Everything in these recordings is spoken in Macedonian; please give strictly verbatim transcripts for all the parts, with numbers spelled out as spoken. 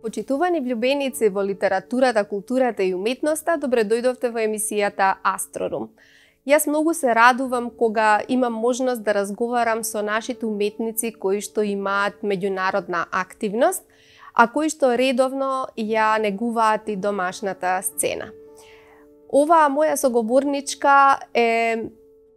Почитувани влюбеници во литературата, културата и уметноста, добре дојдовте во емисијата Астрорум. Јас многу се радувам кога имам можност да разговарам со нашите уметници кои што имаат меѓународна активност, а кои што редовно ја негуваат и домашната сцена. Оваа моја соговорничка е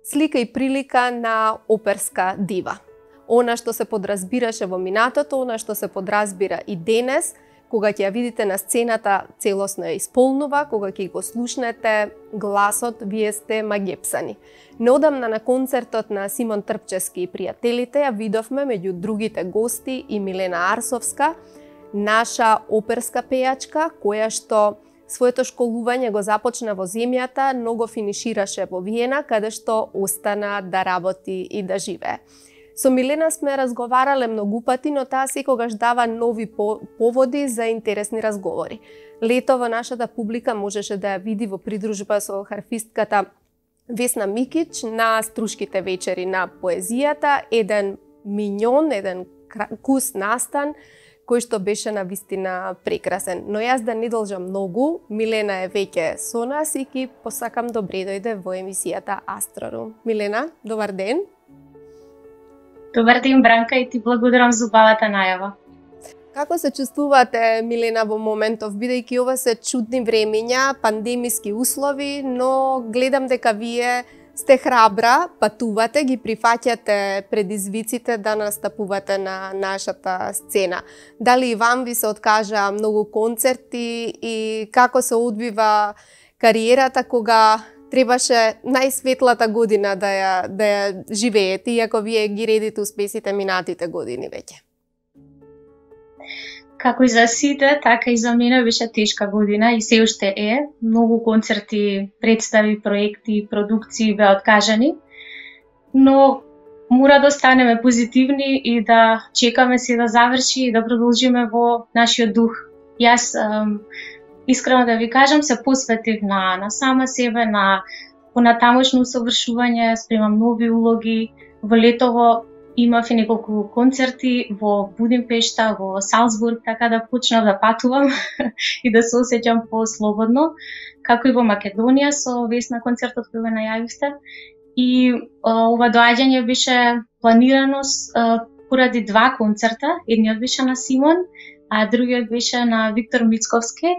слика и прилика на оперска дива. Она што се подразбираше во минатото, она што се подразбира и денес, кога ќе ја видите на сцената, целосно ја исполнува, кога ќе го слушнете гласот, вие сте магепсани. Неодамна на концертот на Симон Трпчевски и пријателите ја видовме меѓу другите гости и Милена Арсовска, наша оперска пејачка, која што своето школување го започна во земјата, но го финишираше во Виена, каде што остана да работи и да живее. Со Милена сме разговарале многу пати, но таа секогаш дава нови поводи за интересни разговори. Лето во нашата публика можеше да ја види во придружба со харфистката Весна Микич на Струшките вечери на поезијата, еден миньон, еден кус настан, кој што беше на вистина прекрасен. Но јас да не должам многу, Милена е веќе со нас и ки посакам добре дојде во емисијата Астрорум. Милена, добар ден! Добар ден, Бранка, и ти благодарам за убавата најава. Како се чувствувате, Милена, во моментов, бидејќи ова се чудни времења, пандемиски услови, но гледам дека вие сте храбра, патувате, ги прифаќате предизвиците да настапувате на нашата сцена. Дали и вам ви се откажа многу концерти и како се одвива кариерата кога требаше најсветлата година да ја, да ја живеете, иако вие ги редите успесите минатите години веќе? Како и за сите, така и за мене беше тешка година и се уште е. Многу концерти, представи, проекти, продукции беа откажани, но мора да останеме позитивни и да чекаме се да заврши и да продолжиме во нашиот дух. Јас ем, искрено да ви кажам, се посветив на, на сама себе, на понатамошно усовршување, спремам нови улоги. Во летово имав и неколку концерти во Будимпешта, во Салцбург, така да почнав да патувам и да се осеќам по-слободно, како и во Македонија со Весна концертот кој го најавивте. И а, ова доаѓање беше планирано а, поради два концерта, едниот беше на Симон, а другиот беше на Виктор Мицковски,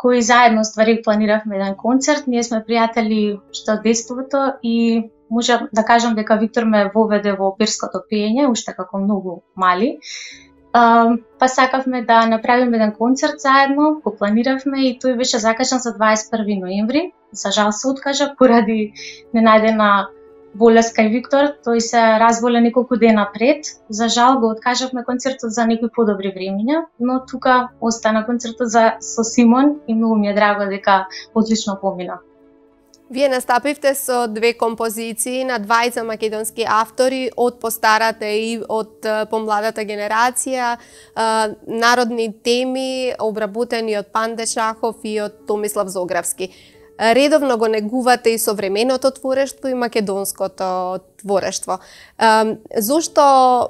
кои заедно ствари планиравме еден концерт. Ние сме пријатели што од детството и можам да кажам дека Виктор ме воведе во оперското пеење, уште како многу мали. Uh, па сакавме да направиме еден концерт заедно, го планиравме и тој беше закажан за дваесет и први ноември. За жал се откажа поради ненајдена болест кај Виктор, тој се разболе неколку дена пред. За жал го откажавме концертот за некои подобри времиња, но тука остана концертот за со Симон и многу ми е драго дека одлично помина. Вие настапивте со две композиции на двајца македонски автори од постарата и од помладата генерација, народни теми обработени од Панде Шахов и од Томислав Зографски. Редовно го негувате и современото творештво и македонското творештво. Зошто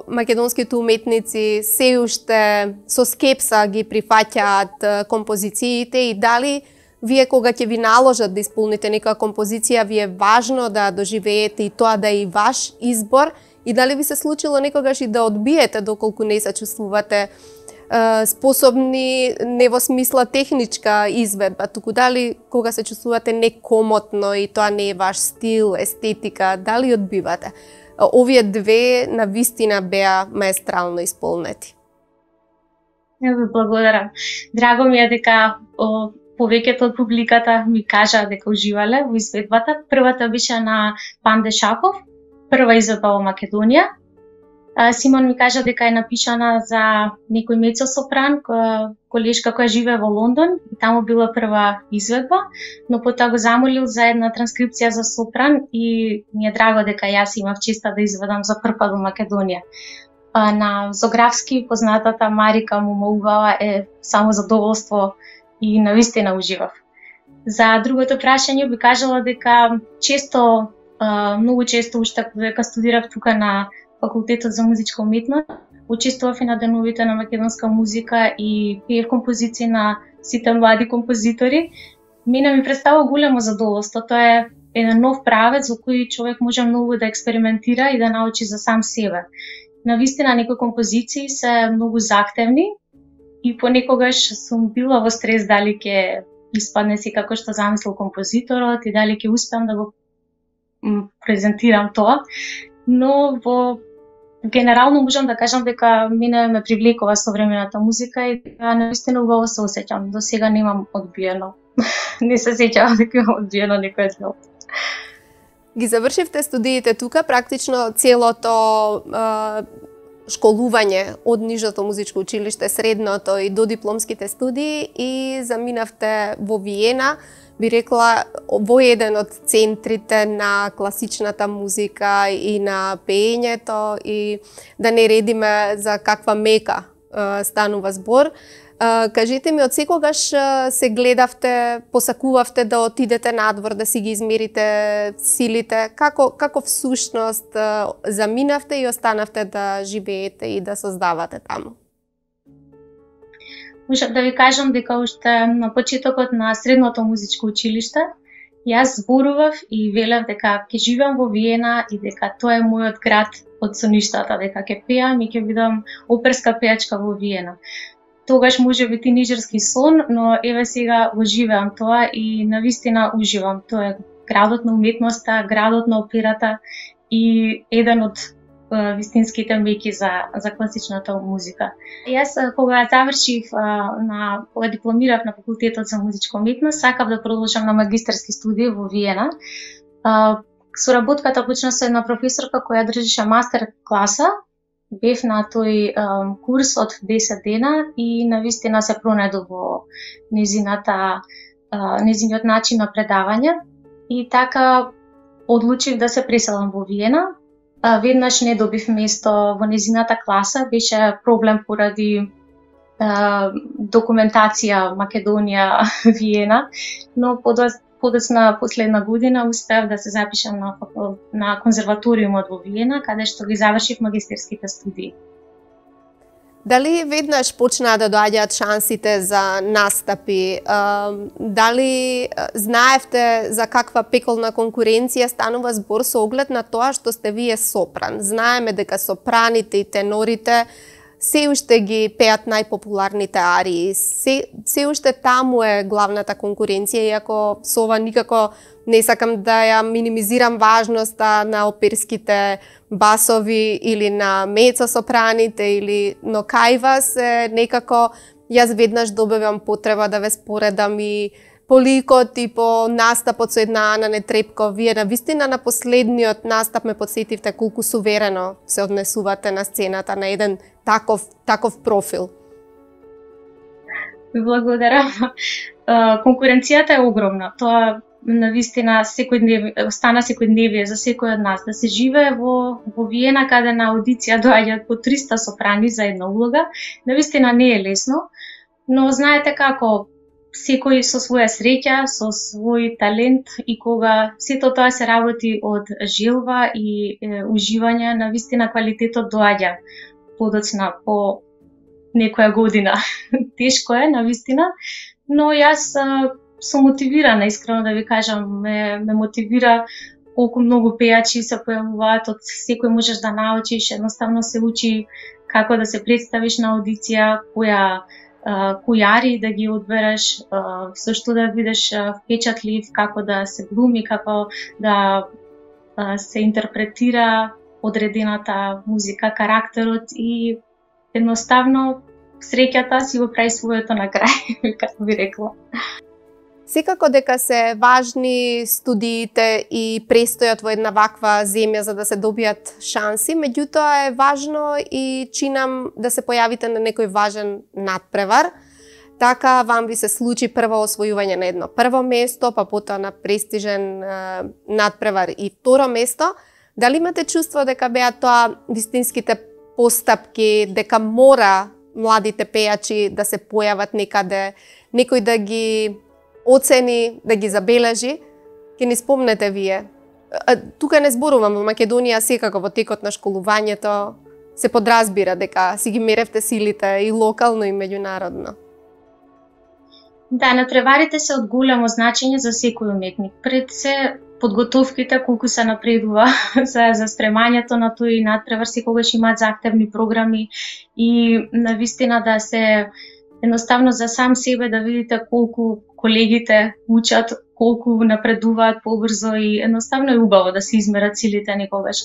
македонските уметници се уште со скепса ги прифаќаат композициите и дали вие кога ќе ви наложат да исполните некоја композиција, ви е важно да доживеете и тоа да е и ваш избор, и дали ви се случило некогаш и да одбиете доколку не се чувствувате е, способни не во смисла техничка изведба, туку дали кога се чувствувате некомотно и тоа не е ваш стил, естетика, дали одбивате? Овие две на вистина беа маестрално исполнети. Ја ви благодарам. Драго ми е дека о, повеќето од публиката ми кажа дека уживале во изведбата. Првата беше на Панде Шахов, прва изведба во Македонија. Симон ми кажа дека е напишана за некој мецо-сопран, колешка која живее во Лондон, и таму била прва изведба, но потоа го замолил за една транскрипција за сопран и ми е драго дека јас имав честа да изведам за прв пат во Македонија. На Зографски познатата Марика Момоувала е само задоволство и навистина уживав. За другото прашање би кажала дека често, многу често уште дека студирав тука на факултетот за музичка уметност, учествував и на деновите на македонска музика и пеев композиции на сите млади композитори. Мене ми представува големо задоволство. Тоа е еден нов правец во кој човек може многу да експериментира и да научи за сам себе. Навистина, некои композиции се многу захтевни и понекогаш сум била во стрес дали ќе испадне си како што замислил композиторот и дали ќе успеам да го презентирам тоа. Но во генерално можам да кажам дека мене ме привлекува современата музика и навистина убаво се осеќам. До сега немам одбиено. Не се сеќавам дека имам одбиено некој дел. Ги завршивте студиите тука, практично целото е, школување од нижото музичко училиште, средното и до дипломските студии и заминавте во Виена, би рекла, во еден од центрите на класичната музика и на пеењето и да не редиме за каква мека е, станува збор. Uh, кажете ми, од секогаш uh, се гледавте, посакувавте да отидете надвор, да си ги измерите силите? Како, како всушност uh, заминавте и останавте да живеете и да создавате таму? Можам да ви кажам дека уште на почетокот на средното музичко училиште јас зборував и велев дека ќе живеам во Виена и дека тоа е мојот град од соништата, дека ќе пеам и ќе бидам оперска пејачка во Виена. Тогаш може би тинеџерски сон, но еве сега го живеам тоа и навистина уживам. Тоа е градот на уметноста, градот на операта и еден од е, вистинските меки за, за класичната музика. Јас кога завршив е, на кога дипломирав на факултетот за музичка уметност, сакав да продолжам на магистерски студии во Виена. Е, соработката почна со една професорка која држеше мастер класа. Бев на тој um, курс од десет дена и навистина се пронајдов во незината, uh, незиниот начин на предавање и така одлучив да се преселам во Виена. Uh, веднаш не добив место во незината класа, беше проблем поради uh, документација Македонија Виена, но подоцна последна година успеав да се запишам на, на конзерваториумот во Виена, каде што ги завршив магистерските студии. Дали веднаш почнаа да доаѓаат шансите за настапи? Дали знаевте за каква пеколна конкуренција станува збор со оглед на тоа што сте вие сопран? Знаеме дека сопраните и тенорите се уште ги пеат најпопуларните арии. Се, се уште таму е главната конкуренција, иако со ова никако не сакам да ја минимизирам важноста на оперските басови или на мецо-сопраните, или... но кај вас е некако, јас веднаш добивам потреба да ве споредам и по ликот и по настапот со една Ана Нетрепко. Вие навистина на последниот настап ме подсетивте колку суверено се однесувате на сцената на еден таков, таков профил. Благодарам. Конкуренцијата е огромна. Тоа навистина секојдневие, стана секојдневие за секој од нас. Да се живее во, во Виена, каде на аудиција доаѓаат по триста сопрани за една улога, навистина не е лесно, но знаете како, секој со своја среќа, со свој талент и кога сето тоа се работи од желба и е, уживање, навистина квалитетот доаѓа подоцна по некоја година. Тешко е, навистина, но јас сум мотивирана, искрено да ви кажам, ме, ме мотивира колку многу пејачи се појавуваат, од секој можеш да научиш, едноставно се учи како да се представиш на аудиција, која Uh, кои ари да ги одбереш, uh, со што да бидеш uh, впечатлив, како да се глуми, како да uh, се интерпретира одредената музика, карактерот и едноставно среќата си го прави своето на крај, како би рекла. Секако дека се важни студиите и престојот во една ваква земја за да се добијат шанси, меѓутоа е важно и чинам да се појавите на некој важен надпревар. Така вам ви се случи прво освојување на едно прво место, па потоа на престижен е, надпревар и второ место. Дали имате чувство дека беа тоа вистинските постапки, дека мора младите пејачи да се појават некаде, некој да ги оцени, да ги забележи, ќе ни спомнете вие. Тука не зборувам во Македонија, секако во текот на школувањето, се подразбира дека си ги меревте силите и локално и меѓународно. Да, натпреварите се од големо значење за секој уметник. Пред се подготовките колку се напредува за, за спремањето на тој натпревар, секогаш имаат заhtевни програми и навистина да се едноставно за сам себе да видите колку колегите учат, колку напредуваат побрзо и едноставно е убаво да се измерат силите некогаш.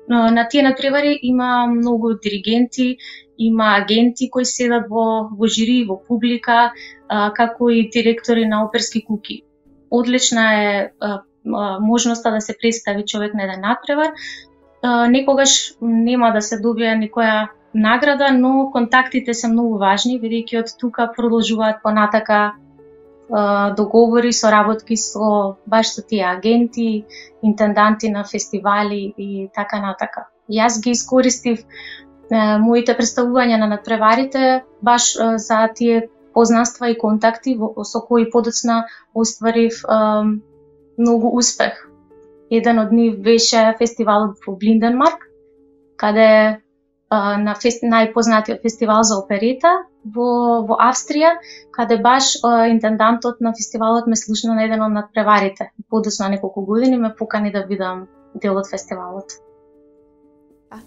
Но на тие натпревари има многу диригенти, има агенти кои седат во, во жири, во публика, а, како и директори на оперски куки. Одлична е а, а, можноста да се представи човек на еден натпревар. А, некогаш нема да се добие никоја награда, но контактите се многу важни, бидејќи од тука продолжуваат понатака договори, соработки со баш со тие агенти, интенданти на фестивали и така натака. Јас ги искористив е, моите представувања на натпреварите баш е, за тие познанства и контакти во, со кои подоцна остварив е, многу успех. Еден од нив беше фестивалот во Блинденмарк, каде на фест... најпознатиот фестивал за оперета во, во Австрија, каде баш а, интендантот на фестивалот ме слушна на еден од натпреварите. Подоцна неколку години ме покани да бидам дел од фестивалот.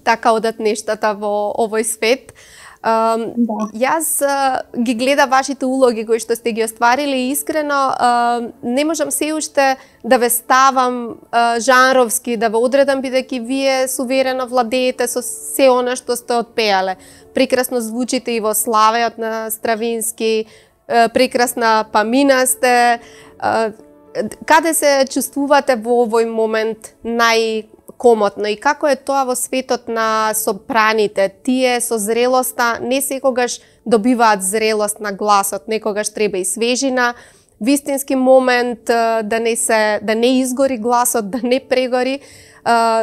Така одат нештата во овој свет. Um, да. Јас uh, ги гледа вашите улоги кои што сте ги остварили и искрено uh, не можам се уште да ве ставам uh, жанровски, да ве одредам бидејќи вие суверено владеете со се она што сте отпеале. Прекрасно звучите и во Славеот на Стравински, uh, прекрасна памина сте. Uh, каде се чувствувате во овој момент нај комотно и како е тоа во светот на сопраните? Тие со зрелоста не секогаш добиваат зрелост на гласот, некогаш треба и свежина, вистински момент да не се да не изгори гласот, да не прегори.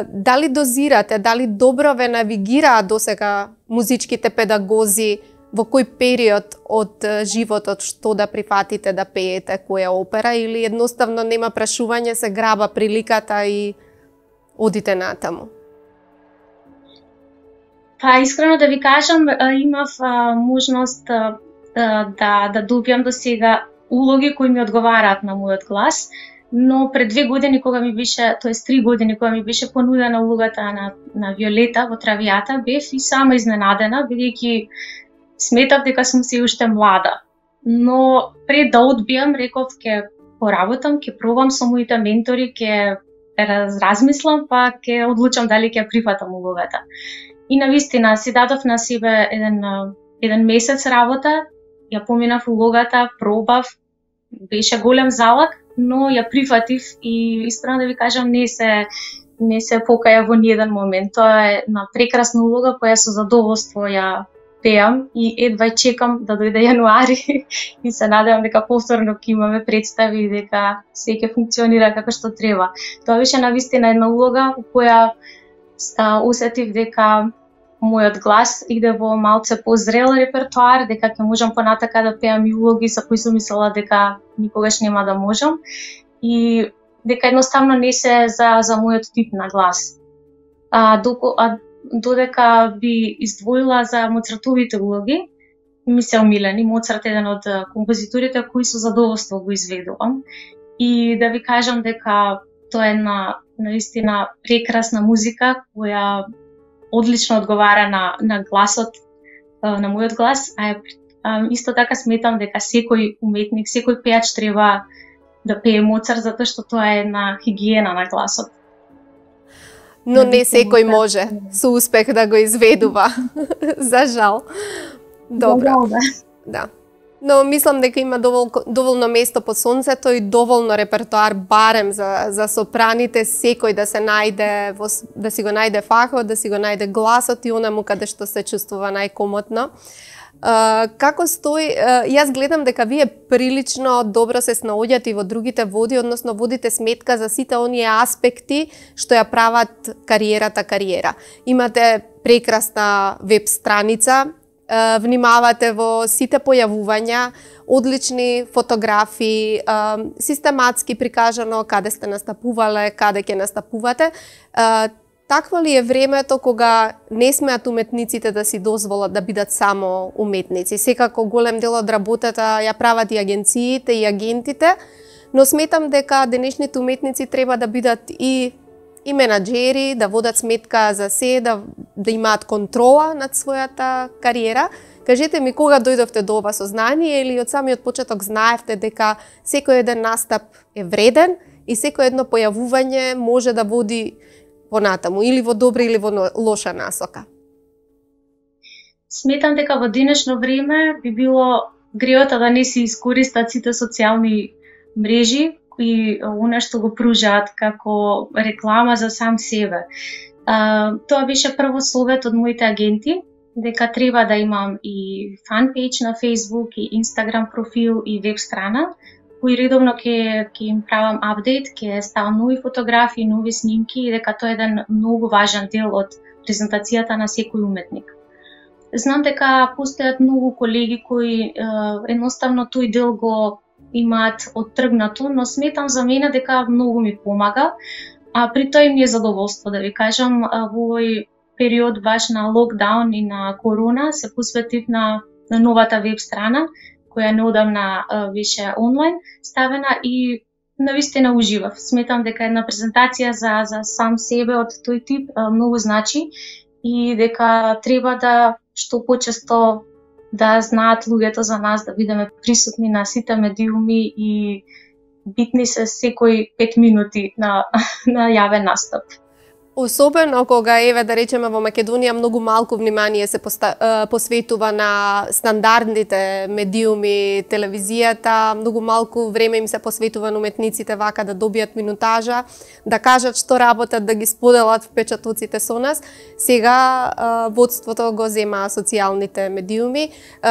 Дали дозирате, дали добро ве навигираат досега музичките педагози во кој период од животот што да прифатите да пеете, која опера, или едноставно нема прашување, се граба приликата и одите натаму? Па, искрено да ви кажам, имав а, можност а, да, да добиам до сега улоги кои ми одговараат на мојот глас, но пред две години кога ми беше, тоест три години кога ми беше понудена улогата на, на Виолета во Травијата, бев и сама изненадена, бидејќи сметав дека сум се уште млада. Но пред да одбиам, реков ќе поработам, ќе пробам со моите ментори, ќе размислам, па ќе одлучам дали ќе прифатам улогата. И навистина си дадов на себе еден, еден месец работа, ја поминав улогата, пробав, беше голем залак, но ја прифатив и искрено да ви кажам, не се не се покаја во ниеден момент. Тоа е на прекрасна улога која со задоволство ја пеам и едва чекам да дојде јануари и се надевам дека повторно ќе имаме представи и дека се ќе функционира како што треба. Тоа беше навистина една улога која а, усетив дека мојот глас иде во малце позрел репертоар, дека ќе можам понатака да пеам и улоги за кои сум мислела дека никогаш нема да можам и дека едноставно не се за за мојот тип на глас. А, доко, а додека би издвоила за Моцартовите улоги, ми се омилени. Моцарт е еден од композиторите кои со задоволство го изведувам. И да ви кажам дека тоа е една наистина прекрасна музика која одлично одговара на на гласот, на мојот глас, а, а исто така сметам дека секој уметник, секој пеач треба да пее Моцарт затоа што тоа е една хигиена на гласот. Но не секој може со успех да го изведува, за жал. Добро. Да. Но мислам дека има довол, доволно место под сонцето и доволно репертоар барем за за сопраните, секој да се најде во, да си го најде фахот, да си го најде гласот и онаму каде што се чувствува најкомотно. Uh, како стои, uh, јас гледам дека вие прилично добро се снаоѓате и во другите води, односно водите сметка за сите оние аспекти што ја прават кариерата кариера. Имате прекрасна веб страница, uh, внимавате во сите појавувања, одлични фотографии, uh, систематски прикажано каде сте настапувале, каде ќе настапувате. Uh, такво ли е времето кога не смеат уметниците да си дозволат да бидат само уметници? Секако голем дел од работата ја прават и агенциите и агентите, но сметам дека денешните уметници треба да бидат и и менаџери, да водат сметка за се, да, да имаат контрола над својата кариера. Кажете ми, кога дојдовте до ова сознание или од самиот почеток знаевте дека секој еден настап е вреден и секој едно појавување може да води понатаму, или во добра или во лоша насока? Сметам дека во денешно време би било греото да не се искористат сите социјални мрежи и она што го пружаат како реклама за сам себе. А, тоа беше прво совет од моите агенти, дека треба да имам и фанпејдж на Facebook, и Instagram профил, и веб страна, кој редовно ќе ќе им правам апдейт, ќе ставам нови фотографии, нови снимки, и дека тоа е еден многу важен дел од презентацијата на секој уметник. Знам дека постојат многу колеги кои е, едноставно тој дел го имаат оттргнато, но сметам за мене дека многу ми помага, а при тоа и ми е задоволство да ви кажам. Во овој период баш на локдаун и на корона се посветив на, на новата веб страна, која неодамна беше онлайн ставена, и навистина уживав. Сметам дека една презентација за, за сам себе од тој тип многу значи и дека треба да што почесто да знаат луѓето за нас, да бидеме присутни на сите медиуми и битни се секој пет минути на, на јавен настап. Особено кога, еве да речеме, во Македонија многу малку внимание се посветува на стандардните медиуми, телевизијата, многу малку време им се посветува на уметниците вака да добијат минутажа, да кажат што работат, да ги споделат впечатоците со нас. Сега водството го зема социјалните медиуми.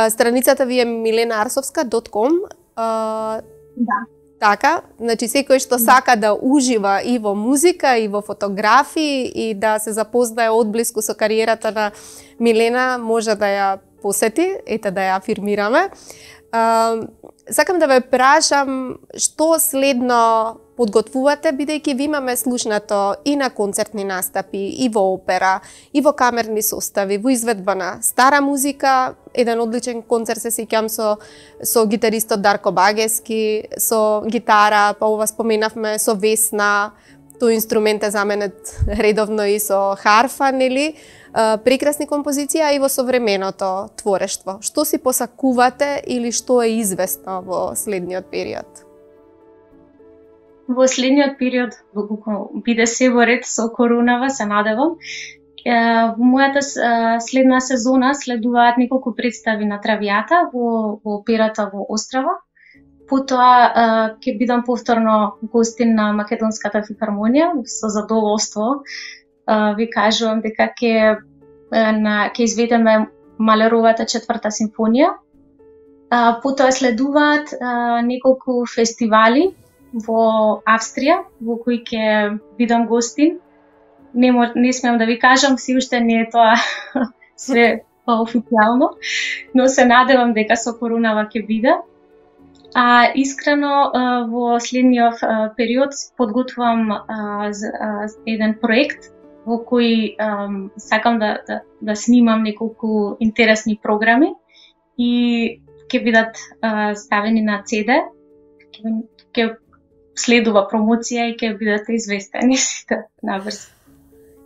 Страницата ви е милена арсовска точка ком. Да. Така, значи секој што сака да ужива и во музика, и во фотографии, и да се запознае одблиску со кариерата на Милена, може да ја посети, ете да ја афирмираме. Сакам да ве прашам што следно подготвувате, бидејќи ви имаме слушнато и на концертни настапи, и во опера, и во камерни состави, во изведба на стара музика. Еден одличен концерт се сеќам со со гитаристот Дарко Багески, со гитара, па ова споменавме со Весна, тој инструмент е заменет редовно и со харфа, нели? Прекрасни композиции, а и во современото творештво. Што си посакувате или што е известно во следниот период? Во следниот период, доколку биде се во ред со коронава, се надевам, во мојата следна сезона следуваат неколку представи на Травијата во, во операта во Острава. Потоа ќе бидам повторно гостин на Македонската филхармонија. Со задоволство ви кажувам дека ќе на ќе изведеме Малеровата четврта симфонија. Потоа следуваат неколку фестивали во Австрија, во кои ќе бидам гостин. Не, не смеам да ви кажам, си уште не е тоа све официјално, но се надевам дека со коронава ќе биде. А искрено во следниот период подготвувам еден проект во кој сакам да, да, да снимам неколку интересни програми и ќе бидат ставени на Си Ди, ќе следува промоција и ќе бидете известени сите набрзо.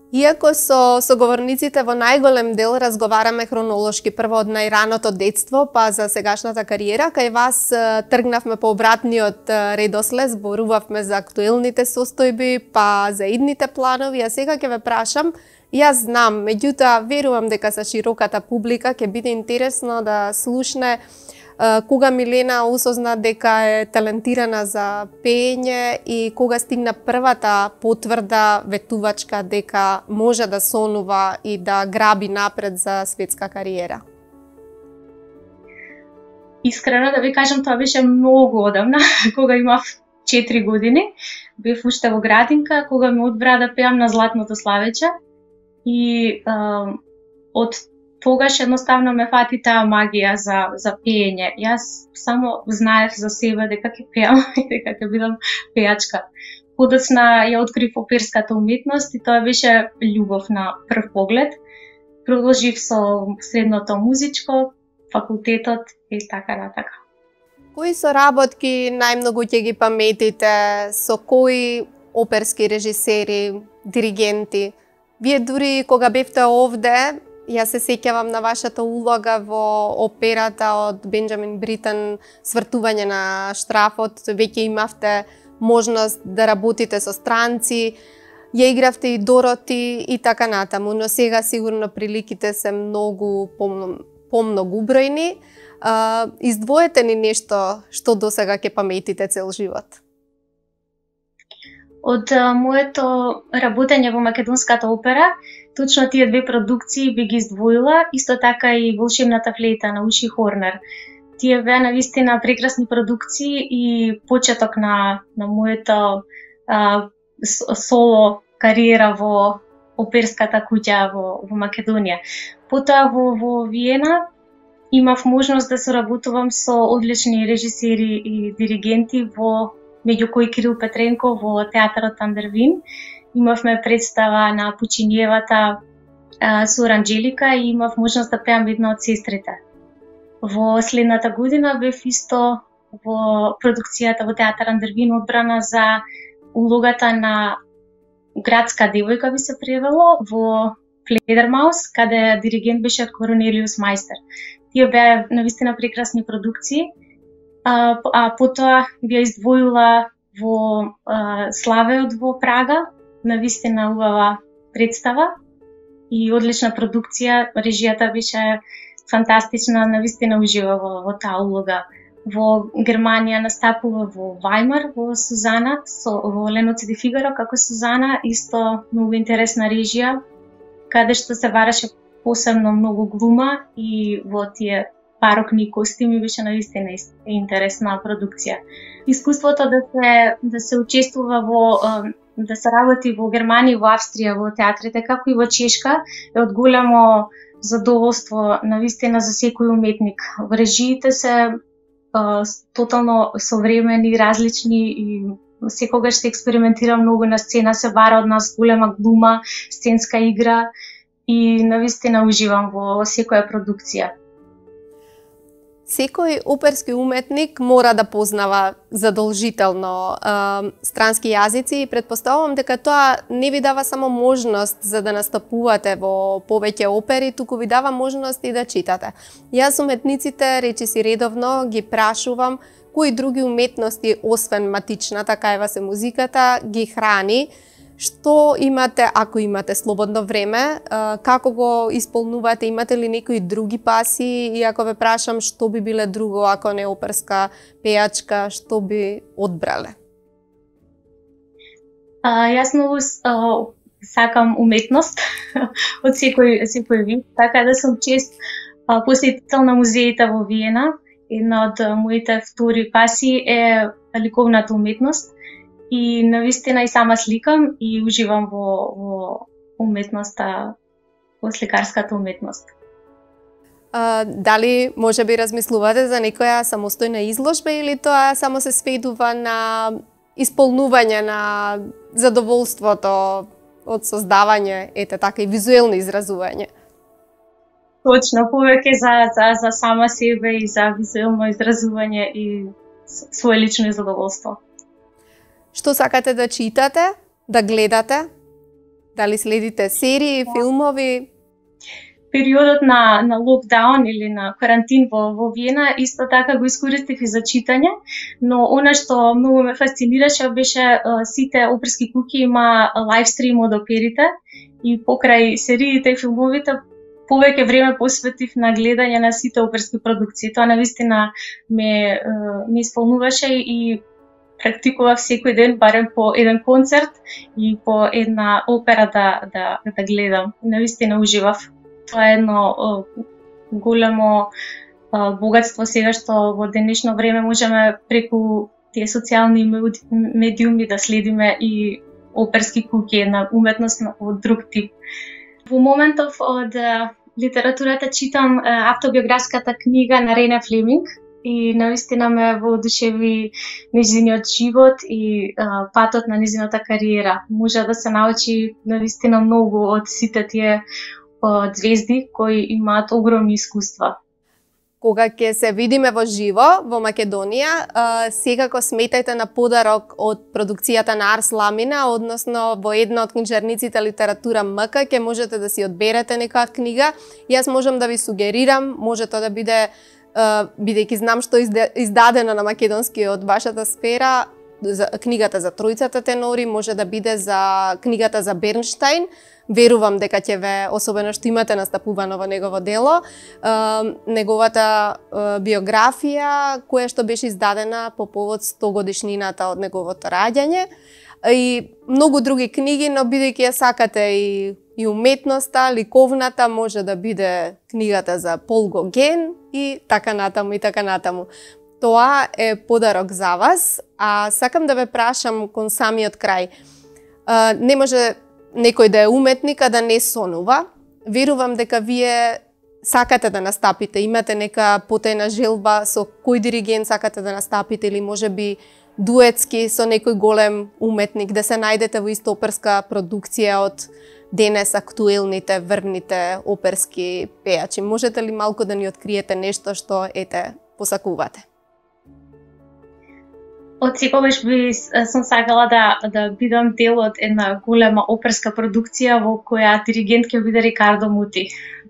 Иако со соговорниците во најголем дел разговараме хронолошки, прво од најраното детство, па за сегашната кариера, кај вас тргнавме по обратниот редослед, зборувавме за актуелните состојби, па за идните планови, а сега ќе ве прашам, јас знам, меѓутоа верувам дека за широката публика ќе биде интересно да слушне кога Милена осозна дека е талентирана за пеење и кога стигна првата потврда ветувачка дека може да сонува и да граби напред за светска кариера? Искрено да ви кажам, тоа беше многу одамна, кога имав четири години. Бев уште во градинка, кога ме одбра да пеам на Златното славече и а, од тогаш едноставно ме фати таа магија за, за пеење. Јас само знаев за себе дека ќе пеам и дека ќе бидам пејачка. подоцна ја открив оперската уметност и тоа беше љубов на прв поглед. Продолжив со средното музичко, факултетот и така натака. Кои соработки најмногу ќе ги паметите, со кои оперски режисери, диригенти? Вие дури кога бевте овде, јас се сеќавам на вашата улога во операта од Бенџамин Бритен, Свртување на штрафот, веќе имавте можност да работите со странци, ја игравте и Дороти и така натаму, но сега сигурно приликите се многу помногубројни. Издвоете ни нешто што досега ќе паметите цел живот? Од а, моето работење во Македонската опера, точно тие две продукции би ги издвоила, исто така и Волшебната флейта на Уши Хорнер. Тие беа навистина прекрасни продукции и почеток на, на моето а, соло кариера во оперската куќа во, во Македонија. Потоа во, во Виена имав можност да соработувам со одлични режисери и диригенти, во меѓу кои Кирил Петренко во театарот Андервин. Имавме представа на Пучиниевата а, со Оранџелика и имав можност да пеам една од сестрите. Во следната година бев исто во продукцијата во театар Андервин одбрана за улогата на градска девојка, би се превело, во Фледермаус, каде диригент беше Корнелиус Мајстер. Тие беа навистина прекрасни продукции, а, а потоа би ја издвоила во а, Славеот во Прага, навистина убава представа и одлична продукција, режијата беше фантастична, навистина ужива во, во таа улога. Во Германија настапува во Вајмар, во Сузана, со, во Леноци де Фигаро како Сузана, исто многу интересна режија, каде што се бараше посебно многу глума и во тие барокни костими беше навистина интересна продукција. Искуството да се да се учествува во да се работи во Германија, во Австрија, во театрите, како и во Чешка, е од големо задоволство навистина за секој уметник. Во режиите се а, тотално современи, различни и секогаш се експериментира многу на сцена, се бара од нас голема глума, сценска игра и навистина уживам во секоја продукција. Секој оперски уметник мора да познава задолжително е, странски јазици и претпоставувам дека тоа не ви дава само можност за да настапувате во повеќе опери, туку ви дава можност и да читате. Јас уметниците, речиси редовно, ги прашувам кои други уметности, освен матичната, каева се музиката, ги храни. Што имате, ако имате слободно време, како го исполнувате, имате ли некои други паси и ако ве прашам што би биле друго, ако не оперска пејачка, што би одбрале? А, јас многу а, сакам уметност од секој, секој вид, така да сум чест а, посетител на музеите во Виена. Една од моите втори паси е ликовната уметност. И навистина и сама сликам и уживам во, во уметноста, во сликарската уметност. А, дали може би размислувате за некоја самостојна изложба или тоа само се сведува на исполнување на задоволството од создавање, ете така, и визуелно изразување? Точно, повеќе за, за, за сама себе и за визуелно изразување и свое лично задоволство. Што сакате да читате, да гледате? Дали следите серии, филмови? Периодот на, на локдаун или на карантин во, во Виена исто така го искористив и за читање, но она што многу ме фасцинираше беше uh, сите оперски куќи има лайвстрим од оперите и покрај сериите и филмовите повеќе време посветив на гледање на сите оперски продукции. Тоа навистина ме, uh, ме исполнуваше и практикував секој ден барем по еден концерт и по една опера да, да, да гледам. Навистина уживав. Тоа е едно о, големо о, богатство сега што во денешно време можеме преку тие социјални медиуми да следиме и оперски куќи на уметност од друг тип. Во моментов од литературата читам автобиографската книга на Рене Флеминг. и навистина ме воодушеви нејзиниот живот и а, патот на нејзината кариера. Може да се научи навистина многу од сите тие од звезди кои имаат огромни искуства. Кога ќе се видиме во живо во Македонија, секако сметајте на подарок од продукцијата на Арс Ламина, односно во една од книжарниците Литература МК ќе можете да си одберете некоја книга. Јас можам да ви сугерирам, може тоа да биде, бидејќи знам што е издадено на македонски од вашата сфера, за книгата за тројцата тенори, може да биде за книгата за Бернштайн. Верувам дека ќе ве, особено што имате настапувано во негово дело, неговата биографија, која што беше издадена по повод сто годишнината од неговото раѓање, и многу други книги, но бидејќи ја сакате и, и уметноста, ликовната, може да биде книгата за Пол Гоген и така натаму и така натаму. Тоа е подарок за вас, а сакам да ве прашам кон самиот крај. Не може некој да е уметник, а да не сонува. Верувам дека вие сакате да настапите, имате нека потајна желба со кој диригент сакате да настапите, или може би дуетски со некој голем уметник, да се најдете во иста оперска продукција од денес актуелните, врвните оперски пејачи. Можете ли малку да ни откриете нешто што ете посакувате? Од секогаш би сум сакала да да бидам дел од една голема оперска продукција во која диригент ќе биде Рикардо Мути.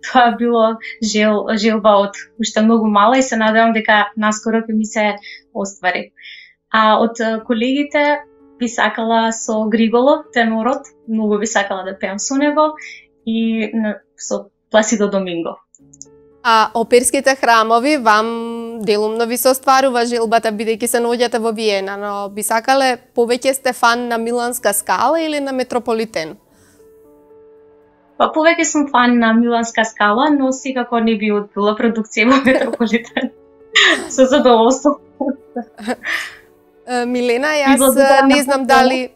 Тоа било жел желба од уште многу мала и се надевам дека наскоро ќе ми се оствари. А од колегите би сакала со Григоло, тенорот, многу би сакала да пеам со него, и со Пласидо Доминго. А оперските храмови вам делумно ви се остварува желбата, бидејќи се наоѓате во Виена, но би сакале повеќе сте фан на Миланска Скала или на Метрополитен? Па повеќе сум фан на Миланска Скала, но секако не би одбила продукција во Метрополитен. Со задоволство. Милена, јас не знам дали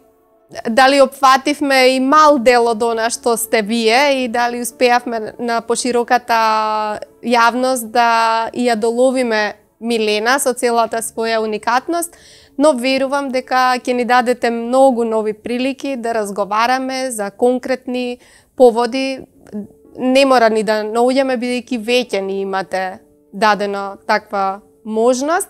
дали опфативме и мал дел од она што сте вие и дали успеавме на пошироката јавност да ја доловиме Милена со целата своја уникатност, но верувам дека ќе ни дадете многу нови прилики да разговараме за конкретни поводи. Не мора ни да наоѓаме, бидејќи веќе ни имате дадено таква можност.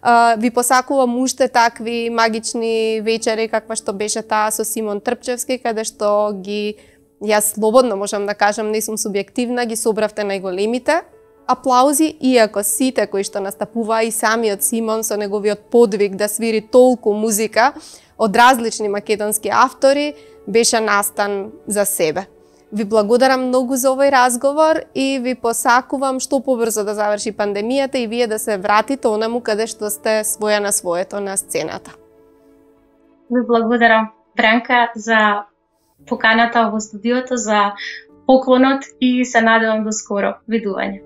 Uh, ви посакувам уште такви магични вечери, каква што беше таа со Симон Трпчевски, каде што ги, јас слободно можам да кажам, не сум субјективна, ги собравте најголемите аплаузи, иако сите кои што настапува и самиот Симон со неговиот подвиг да свири толку музика од различни македонски автори, беше настан за себе. Ви благодарам многу за овој разговор и ви посакувам што побрзо да заврши пандемијата и вие да се вратите онаму каде што сте своја на своето на сцената. Ви благодарам, Бранка, за поканата во студиото, за поклонот и се надевам до скоро. Видување.